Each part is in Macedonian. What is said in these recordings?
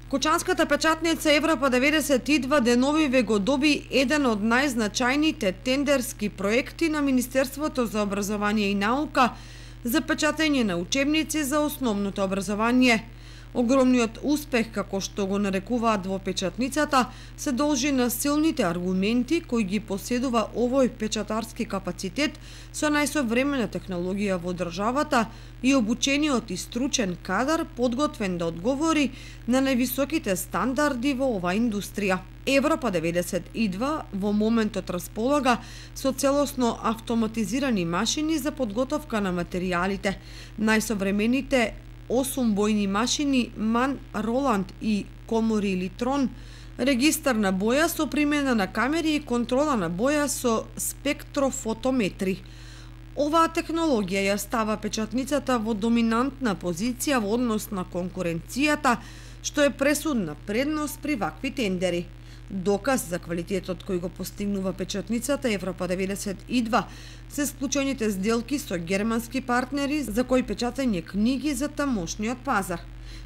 Кочанската печатница Европа 92 деновиве го доби еден од најзначајните тендерски проекти на Министерството за образование и наука за печатење на учебници за основното образование. Огромниот успех, како што го нарекуваат во печатницата, се должи на силните аргументи кои ги поседува овој печатарски капацитет со најсовремена технологија во државата и обучениот и стручен кадар подготвен да одговори на највисоките стандарди во оваа индустрија. Европа 92 во моментот располага со целосно автоматизирани машини за подготовка на материјалите. Најсовремените 8 бојни машини MAN, Роланд и Комори Литрон, регистар на боја со примена на камери и контрола на боја со спектрофотометри. Оваа технологија ја става печатницата во доминантна позиција во однос на конкуренцијата, што е пресудна предност при вакви тендери. Доказ за квалитетот кој го постигнува печатницата Европа 92 се склучените сделки со германски партнери за кои печатање книги за тамошниот пазар.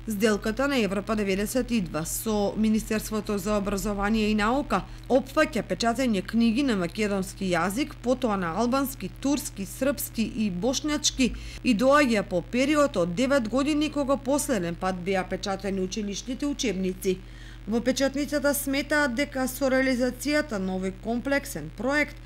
Сделката на Европа 92 со Министерството за образование и наука опфаќа печатање книги на македонски јазик, потоа на албански, турски, српски и бошњачки и доаѓа по период од 9 години кога последен пат беа печатани училишните учебници. Во печатницата сметаат дека со реализацијата на овој комплексен проект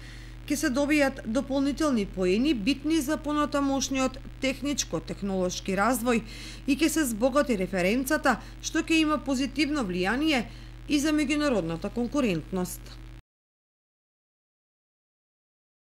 ќе се добијат дополнителни поени битни за понатамошниот техничко-технолошки развој и ќе се збогати референцата, што ќе има позитивно влијание и за меѓународната конкурентност.